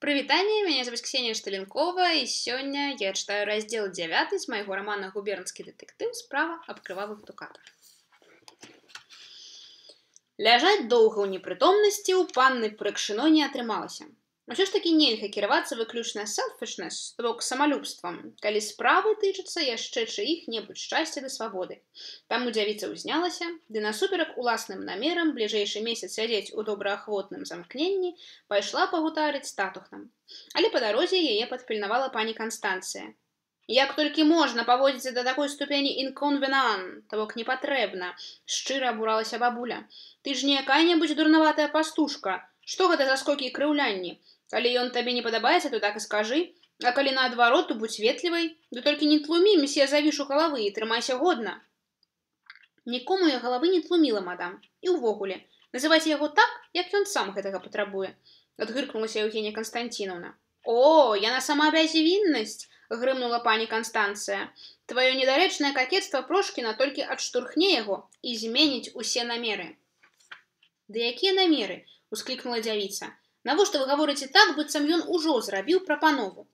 Прывітанне, меня зовут Ксения Шталенкова, и сегодня я читаю раздел 9 из моего романа «Губернский детектив. Справа об крывавых дукатах». Ляжаць доўга ў непрытомнасці ў панны Прыкшыно не атрымалася. Усё ж такі нельга кіравацца выключна selfishness, то бок самалюбствам, калі справы тычацца яшчэ чыіх-небудзь шчасця ды свабоды. Таму дзявіца ўзнялася, ды насуперак уласным намерам бліжэйшы месяц сядзець у добраахвотным замкненні пайшла пагутарыць з татухнам. Але па дарозе яе падпільнавала пані Канстанцыя. Як толькі можна паводзіцца да такой ступені inconvenant, то бок непатрэбна, шчыра абуралася бабуля. Ты ж не якая-небудзь дурнаватая пастушка. Што гэта за скокі і крыўлянні? Калі ён табе не падабаецца, то так і скажы. А калі наадварот, то будь ветлівай. Ды толькі не тлумі месье завішу галавы і трымайся годна. Нікому я галавы не тлуміла, мадам. І ўвогуле, называйце яго так, як ён сам гэтага патрабуе. Адгыркнулася Еўгенія Константиновна. О, яна сама бязвіннасць, грымнула пані Канстанцыя. Тваё недарэчнае какетства Прошкіна толькі адштурхне яго і зменіць усе намеры. Ды якія намеры? Усклікнула дзявіца. Навошта вы гаворыце так, быццам ён ужо зрабіў прапанову?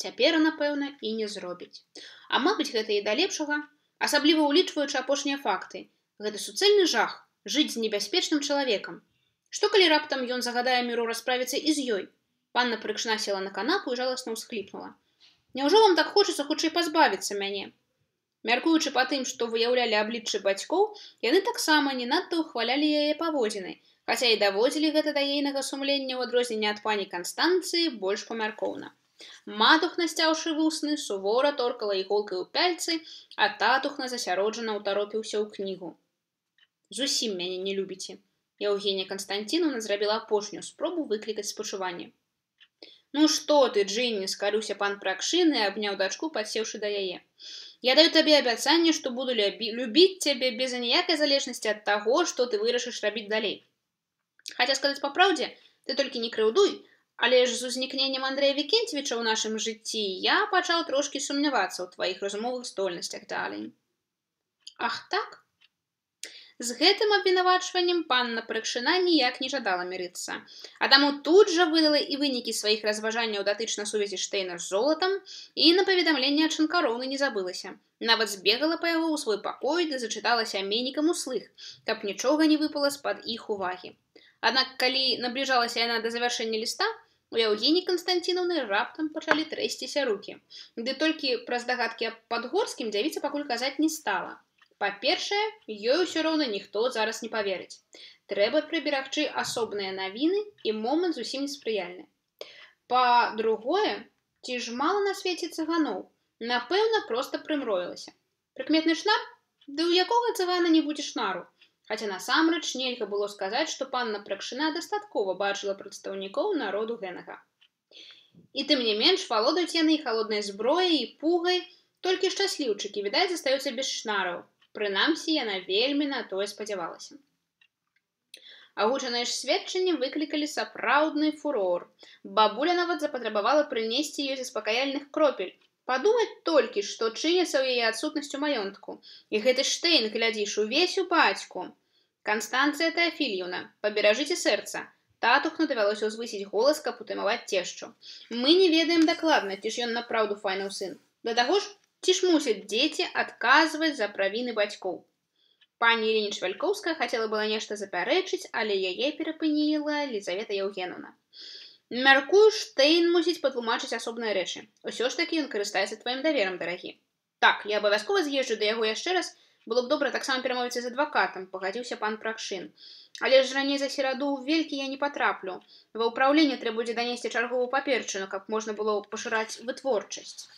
Цяпер, напэўна, і не зробіць. А мабыць, гэта і да лепшага, асабліва ўлічваючы апошнія факты. Гэта суцэльны жах жыць з небяспечным чалавекам. Што калі раптам ён загадае міру расправіцца і з ёй? Панна Прыкшна села на канапу і жаласна ўсхліпнула. Няўжо вам так хочацца хутчэй пазбавіцца мяне? Мяркуючы па тым, што выяўлялі абліччы бацькоў, яны таксама не надта ўхвалялі яе паводзіны, хаця і даводзілі гэта да ейнага сумлення ў адрозненне ад пані Канстанцыі больш памяркоўна. Матухна, сцяўшы вусны, сувора торкала іголкай у пяльцы, а татухна засяроджана ўтаропіўся ў кнігу. Зусім мяне не любіце. Еўгенія Константиновна зрабіла апошнюю спробу выклікаць спачуванне. Ну што ты, Джинни, скарыўся пан Пракшын і абняў дачку, падсеўшы да яе. Я даю табе абяцанне, што буду любіць цябе без аніякай залежнасці ад таго, што ты вырашыш рабіць далей. Хаця сказаць па праўдзе, ты толькі не крыўдуй, але ж з узнікненнем Андрэя Вікенцевіча ў нашым жыцці я пачаў трошкі сумнявацца ў тваіх разумовых здольнасцях далей. Ах так? З гэтым абвінавачваннем панна Прыкшына ніяк не жадала мірыцца, а таму тут жа выдала і вынікі сваіх разважанняў датычна сувязі Штейна з золатам і на паведамленне ад Шанкароўны не забылася. Нават збегала па яго ў свой пакой ды зачытала сямейнікам услых, каб нічога не выпала з-пад іх увагі. Аднак, калі набліжалася яна да завяршэння ліста, у Еўгеніі Константиновны раптам пачалі трэсціся рукі. Ды толькі праз дагадкі аб Падгорскім дзявіца пакуль казаць не стала. Па-першае, ёй усё роўна ніхто зараз не паверыць. Трэба прыберагчы асобныя навіны і момант зусім неспрыяльны. Па-другое, ці ж мала на свеце цыганоў? Напэўна, проста прымроілася. Прыкметны шнар? Ды ў якога цыгана не будзе шнару? Хаця насамрэч нельга было сказаць, што панна Пракшына дастаткова бачыла прадстаўнікоў народу гэнага. І тым не менш валодаюць яны халоднай зброяй і пугай, толькі шчасліўчыкі, відаць, застаюцца без шнараў. Прынамсі, яна вельмі на тое спадзявалася. Агучаныя ж сведчанні выклікалі сапраўдны фурор. Бабуля нават запатрабавала прынесці ёй заспакаяльных кропель. Падумаць толькі, што чыняцца ў яе адсутнасцю маёнтку. І гэты Штейн, глядзіш, увесь у бацьку. Канстанцыя Тэафільевна, паберажыце сэрца. Татухну давялося ўзвысіць голас, каб утымаваць цешчу. Мы не ведаем дакладна, ці ж ён напраўду файнаў сын. Да таго ж, ці ж мусяць дзеці адказваць за правіны бацькоў. Пані Ірына Швалькоўская хацела была нешта запярэчыць, але яе перапыніла Лізавета Еўгенаўна. Мяркую, Штейн мусіць патлумачыць асобныя рэчы. Усё ж такі ён карыстаецца тваім даверам, дарагі. Так, я абавязкова з'езджу да яго яшчэ раз, было б добра таксама перамовіцца з адвакатам, пагадзіўся пан Пракшын. Але ж раней за сераду ў велькі я не патраплю. Ва ўпраўленне трэба будзе данесці чарговую паперчыну, каб можна было пашыраць вытворчасць.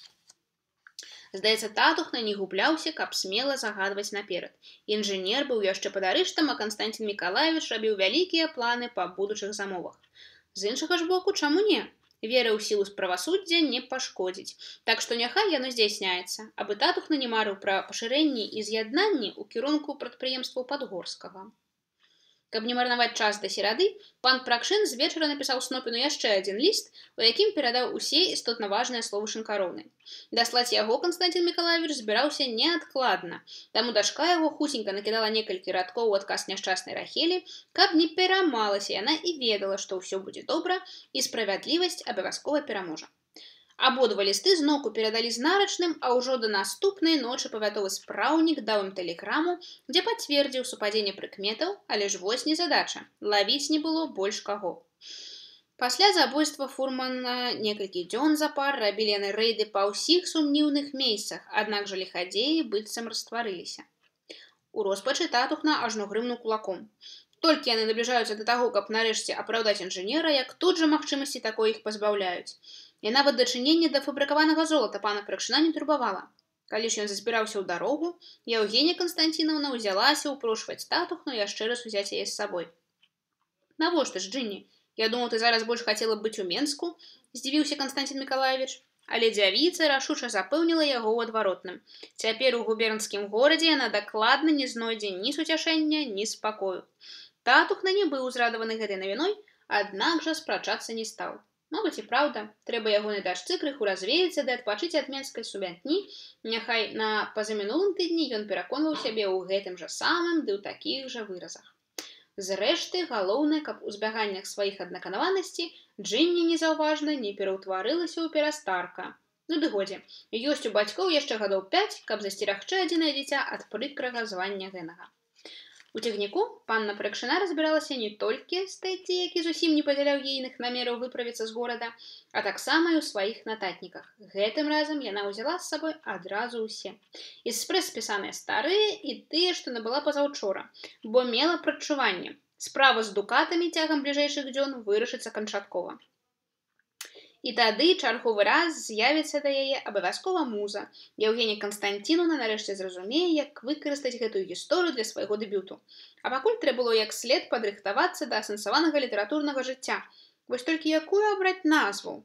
Здаецца, татухна не губляўся, каб смела загадваць наперад. Інжынер быў яшчэ пад арыштам, а Константин Миколаевич рабіў вялікія планы па будучых замовах. З іншага ж боку, чаму не? Вера ў сілу правасуддзя не пашкодзіць. Так што няхай яно здзяйсняецца, абы татухна не марыў пра пашырэнні і з'яднанні ў кірунку прадпрыемстваў Падгорскага. Каб не марнаваць час да серады, пан Пракшын з вечара напісаў Снопіну яшчэ адзін ліст, у якім перадаў усе істотна важныя словы Шынкароўны. Даслаць яго Канстанцін Мікалаевіч збіраўся неадкладна, таму дачка яго хусенька накідала некалькі радкоў у адказ няшчаснай Рахелі, каб не перамалася яна і ведала, што ўсё будзе добра і справядлівасць абавязкова пераможа. Абодва лісты зноўку перадалі з нарачным, а ўжо да наступнай ночы павятовы спраўнік даў ім тэлеграму, дзе пацвердзіў супадзенне прыкметаў, але ж вось незадача, лавіць не было больш каго. Пасля забойства фурмана некалькі дзён запар рабілі яны рэйды па ўсіх сумнеўных месцах, аднак жа ліхадзеі быццам растварыліся. У роспачы Татухна ажно грымнуў кулаком. Толькі яны набліжаюцца да таго, каб нарэшце апраўдаць інжынера, як тут жа магчымасці такой іх пазбаўляюць. І нават дачыненне да фабрыкаванага золата пана Пракшына не турбавала. Калі ж ён збіраўся ў дарогу, Яўгенія Канстанціноўна ўзялася ўпрошваць Татухну яшчэ раз узяць яе з сабой. «Навошта ж, Джинні? Я думаў, ты зараз больш хацела б быць у Менску», – здзівіўся Канстанцін Мікалаевіч. Але дзявіца рашуча запэўніла яго ў адваротным. Цяпер у губернскім горадзе яна дакладна не знойдзе ні суцяшэння, ні спакою. Татухна не быў узрадаваны гэтай навіной, аднак жа спрачацца не стаў. Мабыць і праўда, трэба ягонай дачцы крыху развеяцца ды адпачыць ад менскай сумятні, няхай на пазамінулым тыдні ён пераконваў сябе ў гэтым жа самым ды ў такіх жа выразах. Зрэшты, галоўнае, каб у збяганнях сваіх аднаканаванасці Джинні незаўважна не пераўтварылася ў перастарка. Ну ды годзе, ёсць у бацькоў яшчэ гадоў 5, каб засцерагчы адзінае дзіця ад прыкрага звання гэнага. У цягніку панна Пракшына разбіралася не толькі з Тэдді, які зусім не падзяляў ейных намераў выправіцца з горада, а таксама і ў сваіх нататніках. Гэтым разам яна ўзяла з сабой адразу ўсе. І спрэс спісаныя старыя і тыя, што набыла пазаўчора, бо мела прадчуванне. Справа з дукатамі цягам бліжэйшых дзён вырашыцца канчаткова. І тады чарговы раз з'явіцца да яе абавязкова муза. Яўгенія Канстанціноўна нарэшце зразумее, як выкарыстаць гэтую гісторыю для свайго дэбюту. А пакуль трэба было як след падрыхтавацца да асэнсаванага літаратурнага жыцця. Вось толькі якую абраць назву?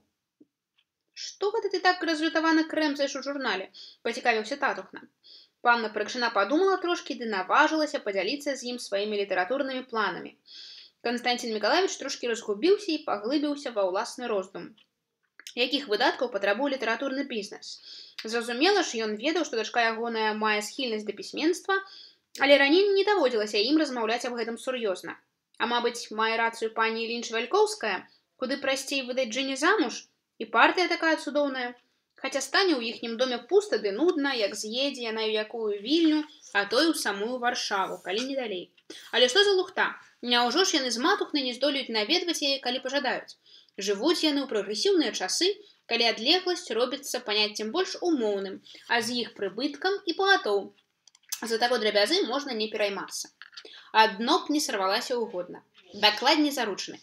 «Што гэта ты так разлютавана крэмзаеш у журнале?» – пацікавіўся Татухна. Панна Пракшына падумала трошкі ды наважылася падзяліцца з ім сваімі літаратурнымі планамі. Канстанцін Мікалаевіч трошкі разгубіўся і паглыбіўся ва ўласны роздум. Якіх выдаткаў патрабуе літаратурны бізнес? Зразумела ж, ён ведаў, што дачка ягоная мае схільнасць да пісьменства, але раней не даводзілася ім размаўляць аб гэтым сур'ёзна. А мабыць, мае рацыю пані Лінч-Вялькоўская, куды прасцей выдаць Джинні замуж? І партыя такая цудоўная. Хаця стане ў іхнім доме пуста ды нудна, як з'едзе яна ў якую вільню, а то і ў самую Варшаву, калі не далей. Але што за лухта? Няўжо ж яны з матухнай не здолеюць наведваць яе, калі пажадаюць? Жывуць яны ў прагрэсіўныя часы, калі адлегласць робіцца паняццем больш умоўным, а з іх прыбыткам і пагатоў. За таго драбязы можна не пераймацца. Адно б не сарвалася ўгодна. Дакладней заручаны.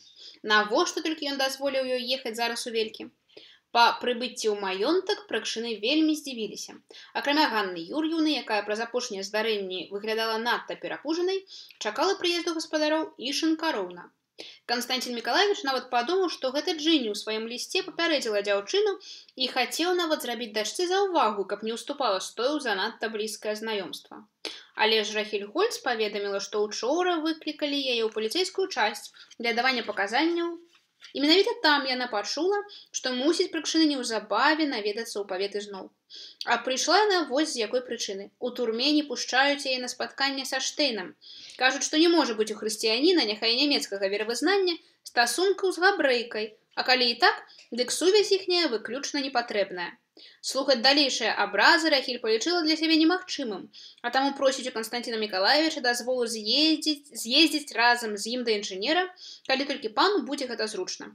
Навошта толькі ён дазволіў ёй ехаць зараз у Велькі? Па прыбыцці ў маёнтак Пракшыны вельмі здзівіліся. Акрамя Ганны Юр'еўны, якая праз апошнія здарэнні выглядала надта перапужанай, чакала прыезду гаспадароў і Шынкароўна. Канстанцін Мікалаевіч нават падумаў, што гэта Джинні ў сваім лісце папярэдзіла дзяўчыну і хацеў нават зрабіць дачцы заўвагу, каб не ўступала з тою ў занадта блізкае знаёмства. Але ж Рахель Гольц паведаміла, што ўчора выклікалі яе ў паліцэйскую часць для давання паказанняў. І менавіта там яна пачула, што мусіць Пракшыны неўзабаве наведацца ў павет ізноў. А прыйшла яна вось з якой прычыны. У турме не пушчаюць яе на спатканне са Штейнам. Кажуць, што не можа быць у хрысціяніна, няхай нямецкага веравызнання, стасункаў з габрэйкай, а калі і так, дык сувязь іхняя выключна непатрэбная. Слухаць далейшыя абразы Рахель палічыла для сябе немагчымым, а таму просіць у Канстанціна Мікалаевіча дазволу з'ездзіць разам з ім да інжынера, калі толькі пану будзе гэта зручна.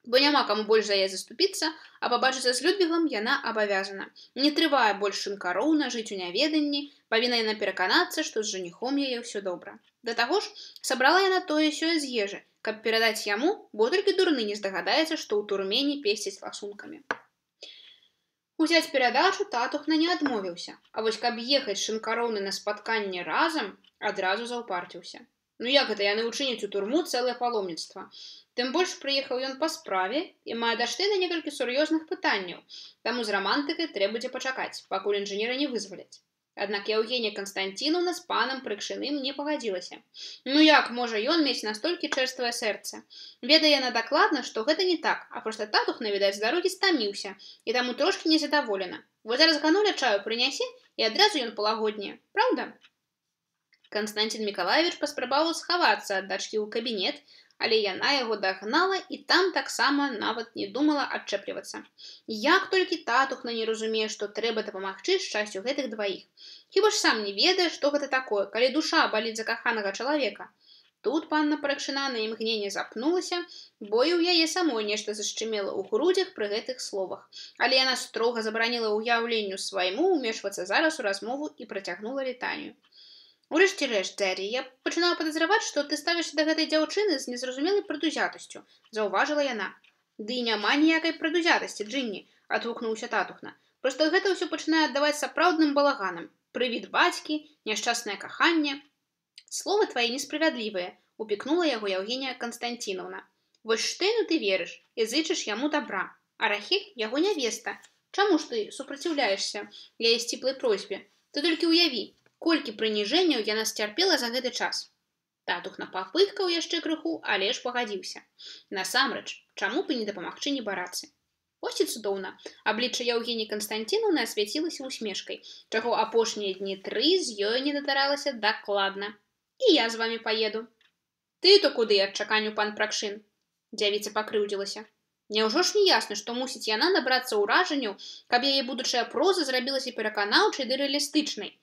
Бо няма каму больш за яе заступіцца, а пабачыцца з Людвігам яна абавязана. Не трывае больш Шынкароўна жыць у няведанні, павінна яна пераканацца, што з жаніхом яе ўсё добра. Да таго ж, сабрала яна тое-сёе з ежы, каб перадаць яму, бо толькі дурны не здагадаецца, што ў турме не песціць ласункамі. Узяць перадачу Татухна не адмовіўся, а вось каб ехаць Шынкароўны на спатканне разам, адразу заўпарціўся. Ну як гэта яны ўчыняць у турму цэлае паломніцтва? Тым больш прыехаў ён па справе і мае да Штэйна некалькі сур'ёзных пытанняў, таму з рамантыкай трэба будзе пачакаць, пакуль інжынера не вызваляць. Аднак Яўгенія Канстанціноўна з панам Прыкшыным не пагадзілася. Ну як можа ён мець настолькі чэрствае сэрца? Ведае яна дакладна, што гэта не так, а проста татухна, відаць, з дарогі стаміўся, і таму трошкі незадаволена. Вось зараз гануля чаю прынясе, і адразу ён палагодніе. Праўда? Канстанцін Мікалаевіч паспрабаваў схавацца ад дачкі ў кабінет, але яна яго дагнала і там таксама нават не думала адчэплівацца. Як толькі татухна не разумее, што трэба дапамагчы шчасцю гэтых дваіх. Хіба ж сам не ведае, што гэта такое, калі душа баліць за каханага чалавека. Тут панна Прыкшына на імгненне запнулася, бо і ў яе самой нешта зашчымела ў грудзях пры гэтых словах. Але яна строга забараніла ўяўленню свайму ўмешвацца зараз у размову і працягнула літанію. Урэшце рэшт, Дзярі, я пачынала падазраваць, што ты ставішся да гэтай дзяўчыны з незразумелай прадузятасцю, заўважыла яна. Ды і няма ніякай прадузятасці, Джынні, адгукнуўся татухна. Проста гэта ўсё пачынае аддаваць сапраўдным балаганам. Прывід бацькі, няшчаснае каханне. Словы твае несправядлівыя, упікнула яго Яўгенія Канстанціноўна. Вось Штейну ты верыш і зычыш яму добра, а Рахіль яго нявеста. Чаму ж ты супраціўляешся яе сціплай просьбе? Ты толькі ўяві, колькі прыніжэнняў яна сцярпела за гэты час. Татухна папыхкаў яшчэ крыху, але ж пагадзіўся. Насамрэч, чаму б і не дапамагчы небарацы? Вось і цудоўна. Аблічча Яўгеніі Канстанціноўны асвяцілася усмешкай, чаго апошнія дні 3 з ёй не датаралася дакладна. І я з вамі паеду. Ты-то куды, адчаканю пан Пракшын? Дзявіца пакрыўдзілася. Няўжо ж не ясна, што мусіць яна набрацца ўражанняў, каб яе будучая проза зрабілася пераканаўчай ды рэалістычнай.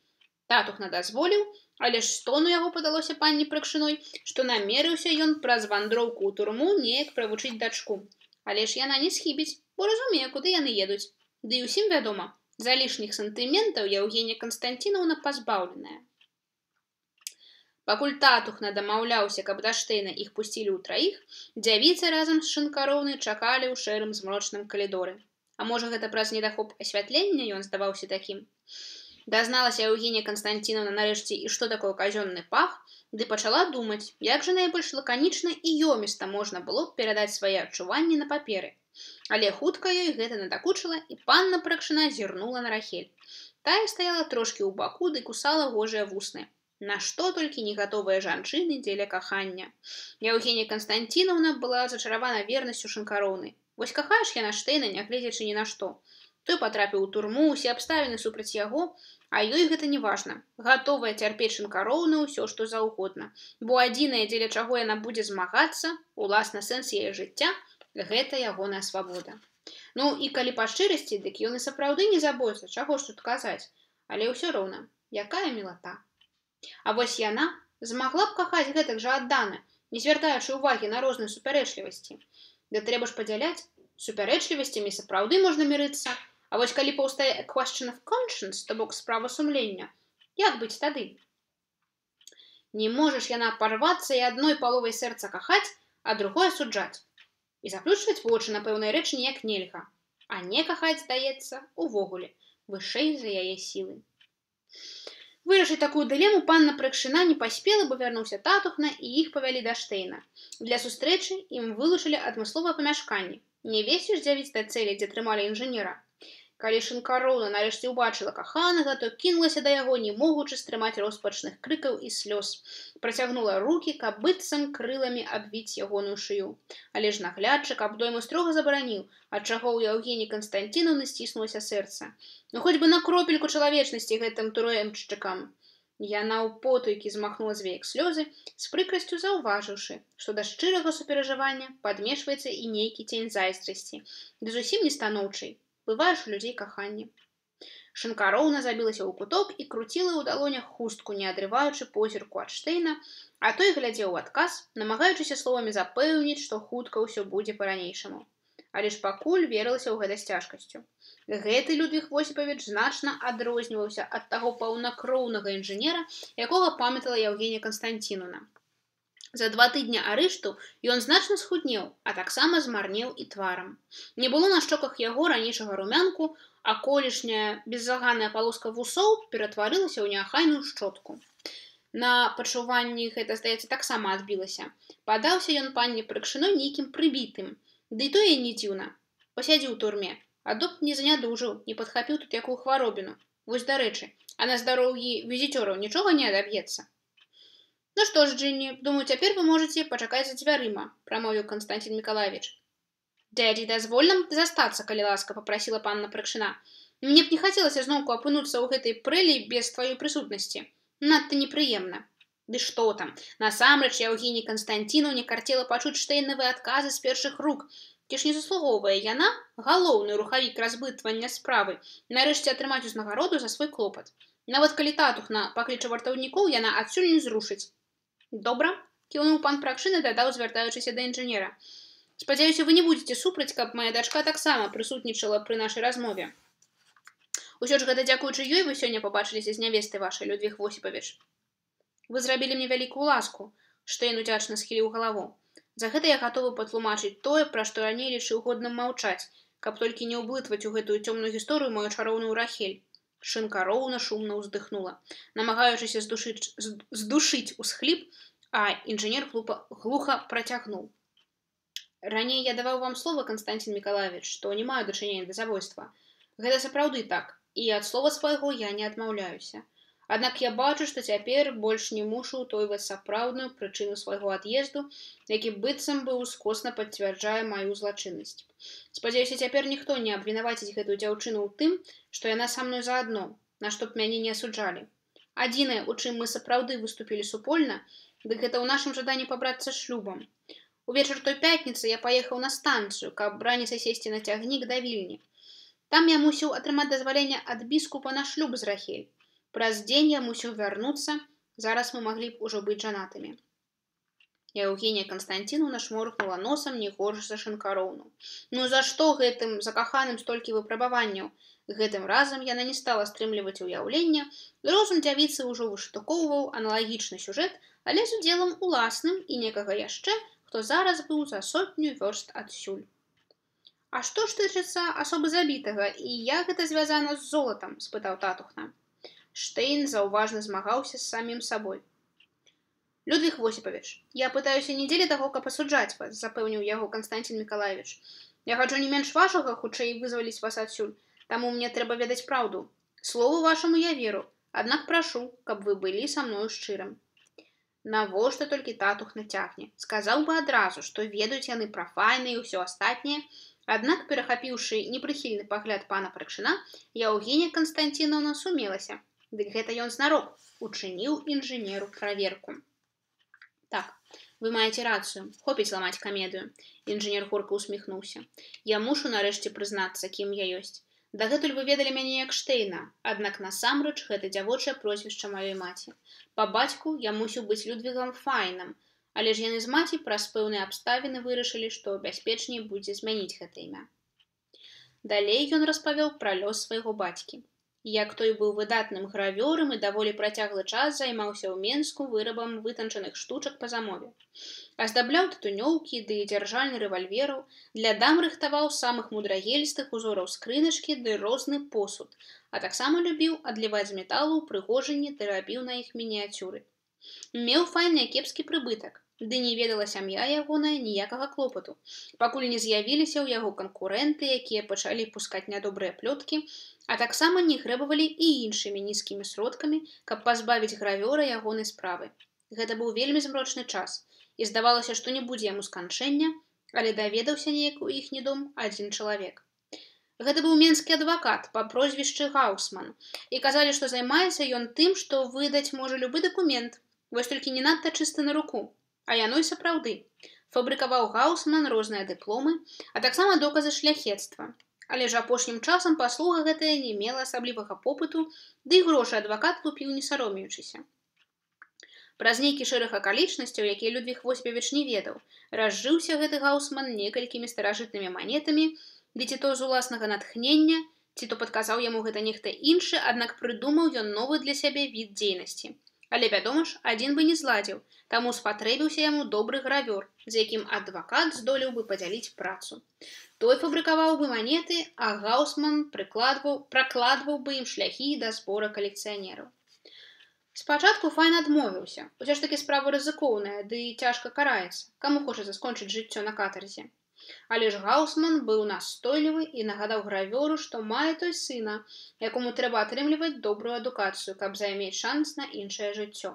Татухна дазволіў, але ж стону яго падалося панні Прыкшыной, што намерыўся ён праз вандроўку ў турму неяк правучыць дачку. Але ж яна не схібіць, бо разумее, куды яны едуць. Ды і ўсім вядома, за лішніх сантыментаў Яўгенія Канстанціноўна пазбаўленая. Пакуль татухна дамаўляўся, каб да Штейна іх пусцілі ў траіх, дзявіцы разам з Шынкароўнай чакалі ў шэрым змрочным калідоры. А можа, гэта праз недахоп асвятлення ён здаваўся такім? Дазналася Яўгенія Канстанціноўна нарэшце і што такое казённы пах, ды пачала думаць, як жа найбольш лаканічна і ёміста можна было перадаць свае адчуванні на паперы. Але хутка ёй гэта надакучыла, і панна Прыкшына зірнула на Рахель. Тая стаяла трошкі ў баку ды кусала гожыя вусны. Нашто толькі не гатовыя жанчыны дзеля кахання. Яўгенія Канстанціноўна была зачаравана вернасцю Шынкароўнай. Вось кахаеш яна Штейна, нягледзячы ні на што. Той патрапіў у турму, усе абставіны супраць яго, а ёй гэта не важна. Гатовая цярпець Шынкароўну ўсё, што заўгодна. Бо адзінае, дзеля чаго яна будзе змагацца, уласна сэнс яе жыцця, гэта ягоная свабода. Ну, і калі па шчырасці, дык ён і сапраўды не забойца, чаго ж тут казаць. Але ўсё роўна, якая мілата. А вось яна змагла б кахаць гэтак жа аддана, не звяртаючы ўвагі на розныя супярэчлівасці. Да трэба ж падзяляць, супярэчлівасцямі сапраўды можна мірыцца, а вось калі паўстае question of conscience, то бок справа сумлення, як быць тады? Не можаш яна парвацца і адной паловай сэрца кахаць, а другое суджаць. І заплюшчваць вочы на пэўнай рэчы ніяк нельга, а не кахаць, здаецца, увогуле, вышэй за яе сілы. Вырашыць такую дылему панна Прыкшына не паспела, бо вярнуўся татухна, і іх павялі да Штейна. Для сустрэчы ім вылучылі адмысловае памяшканне. Не весіш дзявіць да цэлі, дзе трымалі інжынера. Калі Шынкароўна нарэшце ўбачыла каханага, то кінулася да яго, не могучы стрымаць роспачных крыкаў і слёз. Працягнула рукі, каб быццам крыламі абвіць ягоную шыю. Але ж наглядчык абдойму строга забараніў, ад чаго ў Яўгеніі Канстанціноўны сціснулася сэрца. Ну хоць бы на кропельку чалавечнасці гэтым турэмшчыкам. Яна ў потайкі змахнула з веек слёзы, з прыкрасцю заўважыўшы, што да шчырага суперажывання падмешваецца і нейкі цень зайздрасці, ды зусім не станоўчай. Бываеш у людзей каханне. Шынкароўна забілася ў куток і круціла ў далонях хустку, не адрываючы позірку ад Штейна, а той глядзеў у адказ, намагаючыся словамі запэўніць, што хутка ўсё будзе па-ранейшаму. Але ж пакуль верылася ў гэта з цяжкасцю. Гэты Людвіг Восіпавіч значна адрозніваўся ад таго паўнакроўнага інжынера, якога памятала Яўгенія Канстанціноўна. За 2 тыдні арышту ён значна схуднеў, а таксама змарнеў і тварам. Не было на шчоках яго ранейшага румянку, а колішняя беззаганная палоска вусоў ператварылася ў неахайную шчотку. На пачуванні гэта, здаецца, таксама адбілася. Падаўся ён панне Прыкшыной нейкім прыбітым. Ды і тое не дзіўна. Пасядзіў у турме, а доб не занядужыў, не падхапіў тут якую хваробіну. Вось дарэчы, а на здароўі візітёраў нічога не адаб'ецца. Ну што ж, Джинни, думаю, цяпер вы можаце пачакаць за дзвярыма, прамовіў Константин Миколаевич. Дядзі, дазволь нам застацца, калі ласка, папрасіла панна Прыкшына. Мне б не хацелася зноўку апынуцца ў гэтай прэлі без тваёй прысутнасці. Надта непрыемна. Ды што там, насамрэч Яўгеній Канстанцінаўне карцела пачуць штейнавыя адказы з першых рук. Ці ж не заслугоўвае яна, галоўны рухавік разбытвання справы, нарэшце атрымаць узнагароду за свой клопат. Нават калі татухна пакліча вартаўнікоў, яна адсюль не зрушыць. Добра, кіўнуў пан Пракшына, дадаў, звяртаючыся да інжынера. Спадзяюся, вы не будзеце супраць, каб мая дачка таксама прысутнічала пры нашай размове. Усё ж гэта дзякуючы ёй вы сёння пабачыліся з нявестай вашай, Людвіг Восіпавіч. Вы зрабілі мне вялікую ласку, Штейн удзячна схіліў галаву. За гэта я гатовы патлумачыць тое, пра што раней лічыў годным маўчаць, каб толькі не ўблытваць у гэтую цёмную гісторыю мою чароўную Рахель. Шынка роўна шумна ўздыхнула, намагаючыся здушыць усхліп, а інжынер глуха працягнуў. Раней я даваў вам слова, Константин Миколаевич, што не маю дачынення да забойства. Гэта сапраўды так, і ад слова свайго я не адмаўляюся. Аднак я бачу, што цяпер больш не мушу ўтойваць сапраўдную прычыну свайго ад'езду, які быццам бы ускосна пацвярджае маю злачыннасць. Спадзяюся, цяпер ніхто не абвінаваціць гэтую дзяўчыну ў тым, што яна са мной заадно, на што б мяне не асуджалі. Адзінае, у чым мы сапраўды выступілі супольна, дык гэта ў нашым жаданні пабрацца шлюбам. Увечар той пятніцы я паехаў на станцыю, каб раніцай сесці на цягнік да Вільні. Там я мусіў атрымаць дазваленне ад біскупа на шлюб з Рахель. Праз дзень я мусіў вярнуцца, зараз мы маглі б ужо быць жанатымі. Яўгенія Канстанцінаўна шморгнула носам не горш за шынкароўну. Ну за што гэтым закаханым столькі выпрабаванняў? Гэтым разам яна не стала стрымліваць уяўлення, розум дзявіцы ўжо выштукоўваў аналагічны сюжэт, але з удзелам уласным і некага яшчэ, хто зараз быў за 100 вёрст адсюль. А што ж тычыцца асобы забітага, і як гэта звязана з золатам? Спытаў татухна. Штейн заўважна змагаўся з самім сабой. Людвіг Восіпавіч, я пытаюся не дзеля таго, каб асуджаць вас, запэўніў яго Константин Миколаевич. Я хачу не менш вашага, хутчэй вызваліць вас адсюль, таму мне трэба ведаць праўду. Слову вашаму я веру, аднак прашу, каб вы былі са мною шчырым. Навошта толькі татухна цягне? Сказаў бы адразу, што ведаюць яны пра файны і ўсё астатняе, аднак, перахапіўшы непрыхільны пагляд пана Прыкшына, Яўгенія Канстанцінаўна сумелася. Дык гэта ён знарок учыніў інжынеру праверку. Так, вы маеце рацыю, хопіць ламаць камедыю. Інжынер горка усміхнуўся. Я мушу нарэшце прызнацца, кім я ёсць. Дагэтуль вы ведалі мяне як Штейна, аднак насамрэч гэта дзявочае прозвішча маёй маці. Па бацьку я мусіў быць Людвігам Файнам, але ж яны з маці праз пэўныя абставіны вырашылі, што бяспечней будзе змяніць гэта імя. Далей ён распавёў пра лёс свайго бацькі. Як той быў выдатным гравёрам і даволі працяглы час займаўся ў Менску вырабам вытанчаных штучак па замове. Аздабляў тытунёўкі ды дзяржальны рэвальвераў, для дам рыхтаваў самых мудрагельстых узораў скрыначкі ды розны посуд, а таксама любіў адліваць з металу ўпрыгожанні ды рабіў на іх мініяцюры. Меў файны кепскі прыбытак, ды не ведала сям'я ягоная ніякага клопату, пакуль не з'явіліся ў яго канкурэнты, якія пачалі пускаць нядобрыя плёткі, а таксама не грэбавалі і іншымі нізкімі сродкамі, каб пазбавіць гравёра ягонай справы. Гэта быў вельмі змрочны час, і здавалася, што не будзе яму сканчэння, але даведаўся неяк у іхні дом адзін чалавек. Гэта быў менскі адвакат па прозвішчы Гаусман, і казалі, што займаецца ён тым, што выдаць можа любы дакумент, вось толькі не надта чысты на руку. А яно і сапраўды. Фабрыкаваў Гаусман розныя дыпломы, а таксама доказы шляхецтва. Але ж апошнім часам паслуга гэтая не мела асаблівага попыту, ды і грошы адвакат лупіў не саромеючыся. Праз нейкі шэраг акалічнасцяў, якія Людвіг Восіпавіч не ведаў, разжыўся гэты Гаусман некалькімі старажытнымі манетамі, ды ці то з уласнага натхнення, ці то падказаў яму гэта нехта іншы, аднак прыдумаў ён новы для сябе від дзейнасці. Але, вядома ж, адзін бы не зладзіў, таму спатрэбіўся яму добры гравёр, з якім адвакат здолеў бы падзяліць працу. Той фабрыкаваў бы манеты, а Гаусман пракладваў бы ім шляхі да збора калекцыянераў. Спачатку Файн адмовіўся, усё ж такі справа рызыкоўная, ды і цяжка караецца, каму хочацца скончыць жыццё на катарзе. Але ж Гаусман быў настойлівы і нагадаў гравёру, што мае той сына, якому трэба атрымліваць добрую адукацыю, каб займець шанс на іншае жыццё.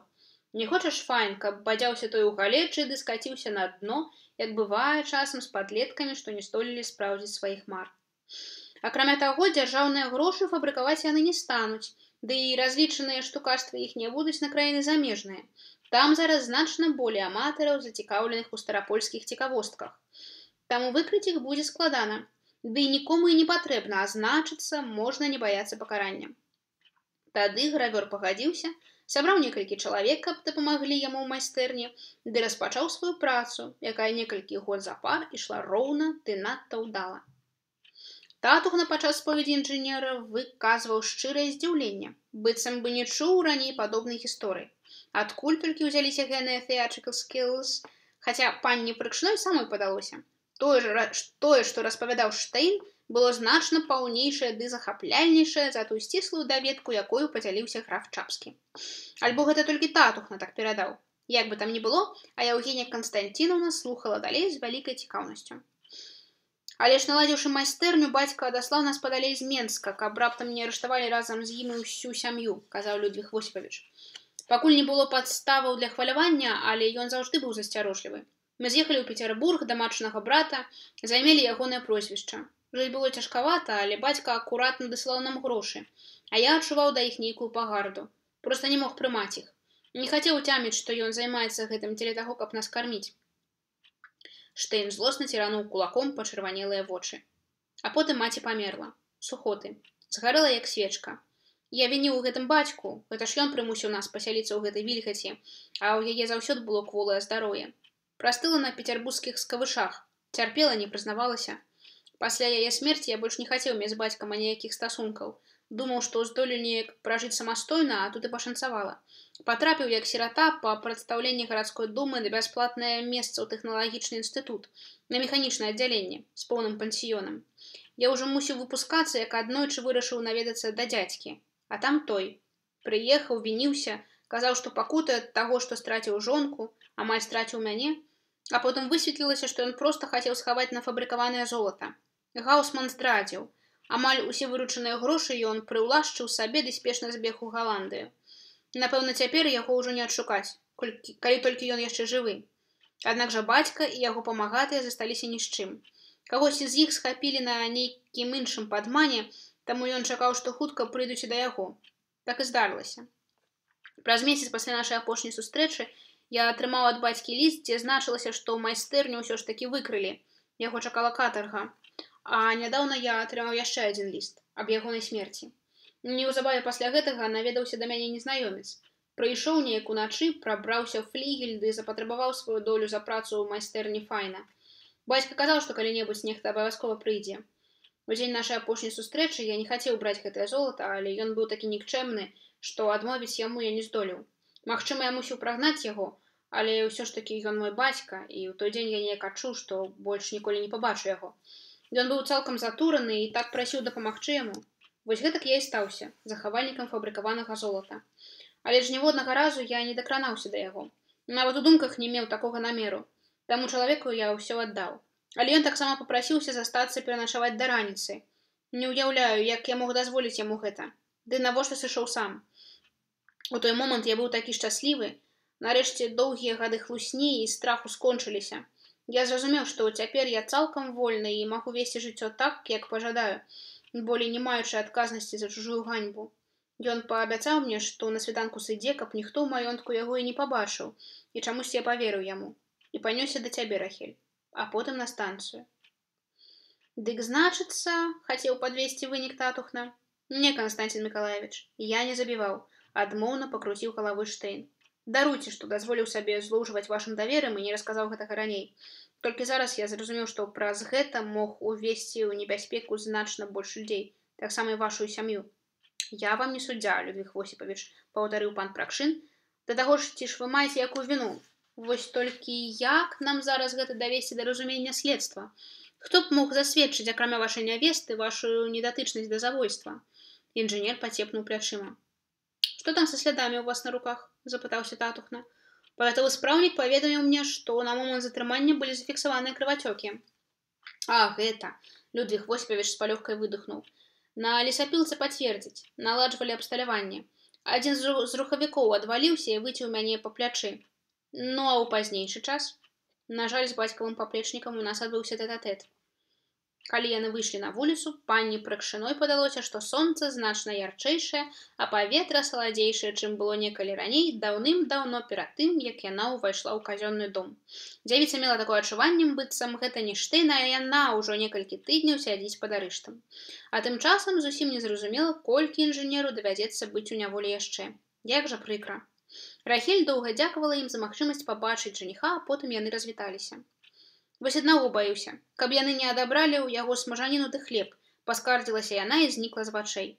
Не хочаш, файн, каб бадзяўся той у галечы ды скаціўся на дно, як бывае часам з падлеткамі, што не здолелі спраўдзіць сваіх мар. Акрамя таго, дзяржаўныя грошы фабрыкаваць яны не стануць, ды і разлічаныя штукарствы іх не будуць на краіны замежныя. Там зараз значна болей аматараў, зацікаўленых у старапольскіх цікавостках. Таму выкрыць іх будзе складана. Ды нікому і не патрэбна, а значыцца, можна не баяцца пакарання. Тады гравёр пагадзіўся, сабраў некалькі чалавек, каб дапамаглі яму ў майстэрні, ды распачаў сваю працу, якая некалькі год запар ішла роўна ды надта ўдала. Татухна падчас споведзі інжынера выказваў шчырае здзіўленне, быццам бы не чуў раней падобнай гісторыі. Адкуль толькі ўзяліся геныя theatrical skills, хаця панні Прыкшной самой падалося. Тое, што распавядаў Штейн, было значна паўнейшае ды захапляльнейшае за тую сціслую даведку, якою падзяліўся граф Чапскі. Альбо гэта толькі татухна так перадаў. Як бы там ні было, а Яўгенія Канстанцінаўна слухала далей з вялікай цікаўнасцю. Але ж наладзіўшы майстэрню, бацька адаслаў нас падалей з Менска, каб раптам не арыштавалі разам з ім і ўсю сям'ю, казаў Людвіг Восіпавіч. Пакуль не было падставаў для хвалявання, але ён заўжды быў засцярожлівы. Мы з'ехалі ў Пецярбург да матчынага брата, займелі ягонае прозвішча. Жыць было цяжкавата, але бацька акуратна дасылаў нам грошы, а я адчуваў да іх нейкую пагарду. Проста не мог прымаць іх. Не хацеў уцяміць, што ён займаецца гэтым дзеля таго, каб нас карміць. Штейн злосна цірануў кулаком пачырванелыя вочы. А потым маці памерла. Сухоты. Згарэла, як свечка. Я вініў у гэтым бацьку, гэта ж ён прымусіў нас пасяліцца ў гэтай вільгаці, а ў яе заўсёды было кволае здароўе. Прастыла на пецярбургскіх скавышах, цярпела, не прызнавалася. Пасля яе смерці я больш не хацеў мець з бацькам аніякіх стасункаў. Думаў, што здолю неяк пражыць самастойна, а тут і пашанцавала. Патрапіў як сірата па прадстаўленні гарадской думы на бясплатнае месца ў тэхналагічны інстытут, на механічнае аддзяленне, з поўным пансіёнам. Я ўжо мусіў выпускацца, як аднойчы вырашыў наведацца да дзядзькі. А там той. Прыехаў, вініўся, казаў, што пакутае ад таго, што страціў жонку, амаль страціў мяне, а потым высветлілася, што ён проста хацеў схаваць нафабрыкаванае золата. Гаусман здрадзіў. Амаль усе выручаныя грошы ён прыўлашчыў сабе ды спешна збег у Галандыю. Напэўна, цяпер яго ўжо не адшукаць, калі толькі ён яшчэ жывы. Аднак жа бацька і яго памагатыя засталіся ні з чым. Кагосьці з іх схапілі на нейкім іншым падмане, таму ён чакаў, што хутка прыйдуць да яго. Так і здарылася. Праз месяц пасля нашай апошняй сустрэчы я атрымаў ад бацькі ліст, дзе значылася, што ў майстэрню ўсё ж такі выкрылі. Яго чакала катарга. А нядаўна я атрымаў яшчэ адзін ліст аб ягонай смерці. Неўзабаве пасля гэтага наведаўся да мяне незнаёмец. Прыйшоў неяк уначы, прабраўся ў флігель ды запатрабаваў сваю долю за працу ў майстэрні Файна. Бацька казаў, што калі-небудзь нехта абавязкова прыйдзе. У дзень нашай апошняй сустрэчы я не хацеў браць гэтае золата, але ён быў такі нікчэмны, што адмовіць яму я не здолеў. Магчыма, я мусіў прагнаць яго, але ўсё ж такі ён мой бацька, і ў той дзень я неяк адчуў, што больш ніколі не пабачу яго. Ён быў цалкам затураны і так прасіў дапамагчы яму. Вось гэтак я і стаўся захавальнікам фабрыкаванага золата. Але ж ніводнага разу я не дакранаўся да яго. Нават у думках не меў такога намеру. Таму чалавеку я ўсё аддаў. Але ён таксама папрасіўся застацца пераначаваць да раніцы. Не ўяўляю, як я мог дазволіць яму гэта. Ды навошта сышоў сам. У той момант я быў такі шчаслівы. Нарэшце доўгія гады хлусні і страху скончыліся. Я зразумеў, што цяпер я цалкам вольны і магу весці жыццё так, як пажадаю, болей не маючы адказнасці за чужую ганьбу. Ён паабяцаў мне, што на світанку сыдзе, каб ніхто ў маёнтку яго і не пабачыў, і чамусь я паверыў яму. І панёсся да цябе, Рахель, а потым на станцыю. Дык значыцца, хацеў падвесці вынік татухна. Не, Канстанцін Мікалаевіч, я не забіваў, адмоўна пакруціў галавой Штейн. Даруйце, што дазволіў сабе злоўжываць вашым даверам і не расказаў гэтага раней. Толькі зараз я зразумеў, што праз гэта мог увесці ў небяспеку значна больш людзей, таксама і вашу сям'ю. Я вам не суддзя, Людвіг Восіпавіч, паўтарыў пан Пракшын. Да таго ж, ці ж вы маеце якую віну? Вось толькі як нам зараз гэта давесці да разумення следства? Хто б мог засведчыць, акрамя вашай нявесты, вашу недатычнасць да забойства? Інжынер пацепнуў плячыма. Што там са слядамі ў вас на руках? Запытаўся татухна. Павятовы спраўнік паведаміў мне, што на момант затрымання былі зафіксаваныя крывацёкі. А, гэта. Людвиг Восипович с полегкой выдохнул. На лесапілцы пацвердзіць. Наладжвалі абсталяванне. Адзін з рухавікоў адваліўся і выцеў мяне па плячы. Ну, а ў пазнейшы час? На жаль, з бацькавым паплечнікам у нас адбыўся тэт-а-тэт. Калі яны выйшлі на вуліцу, панні Прыкшыной падалося, што сонца значна ярчэйшае, а паветра саладзейшае, чым было некалі раней, даўным-даўно перад тым, як яна ўвайшла ў казённы дом. Дзявіца мела такое адчуванне, быццам гэта не Штейн, а яна ўжо некалькі тыдняў сядзіць пад арыштам. А тым часам зусім незразумела, колькі інжынеру давядзецца быць у няволі яшчэ. Як жа прыкра. Рахель доўга дзякавала ім за магчымасць пабачыць жаніха, а потым яны развіталіся. Вось аднаго баюся, каб яны не адабралі ў яго смажаніну ды хлеб, паскардзілася яна і знікла з вачэй.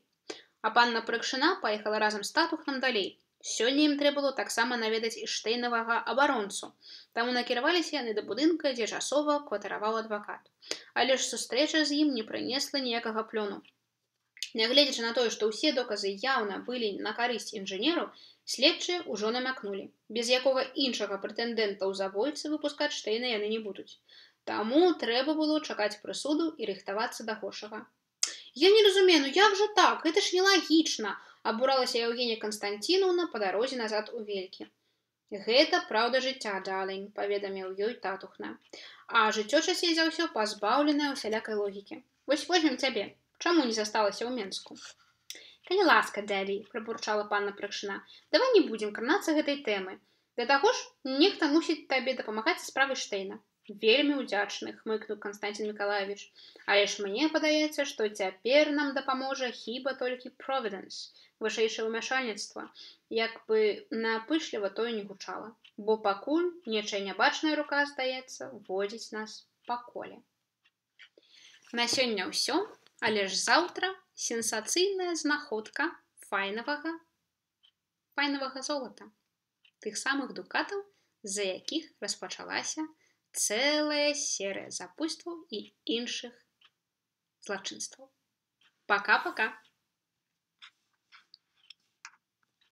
А панна Прыкшына паехала разам з татухнам далей. Сёння ім трэба было таксама наведаць і штейнавага абаронцу. Таму накіраваліся яны да будынка, дзе часова кватараваў адвакат. Але ж сустрэча з ім не прынесла ніякага плёну. Нягледзячы на тое, што ўсе доказы яўна былі на карысць інжынеру, следчыя ўжо намякнулі. Без якога іншага прэтэндэнта ў забойцы выпускаць Штейна яны не будуць. Таму трэба было чакаць прысуду і рыхтавацца да горшага. Я не разумею, ну як жа так? Гэта ж нелагічна, абуралася Евгения Константиновна па дарозе назад у Велькі. Гэта праўда жыцця, дарлінг, паведаміў ёй татухна. А жыццё часцей за ўсё пазбаўленае усялякай логікі. Вось возьмем цябе. Чаму не засталася ў Менску? Калі ласка, дядзі, прабурчала панна Прыкшына, давай не будзем кранацца гэтай тэмы. Да таго ж, нехта мусіць табе дапамагаць са справай Штейна. Вельмі ўдзячны, хмыкнуў Константин Миколаевич. Але ж мне падаецца, што цяпер нам дапаможа хіба толькі Providence, вышэйшае ўмяшальніцтва, як бы напышліва тое не гучала. Бо пакуль нечая нябачная рука, здаецца, водзіць нас па коле. На сёння ўсё. Але ж заўтра сенсацыйная знаходка файнавага золата. Тых самых дукатаў, з-за якіх распачалася цэлая серыя забойстваў і іншых злачынстваў. Пака-пака!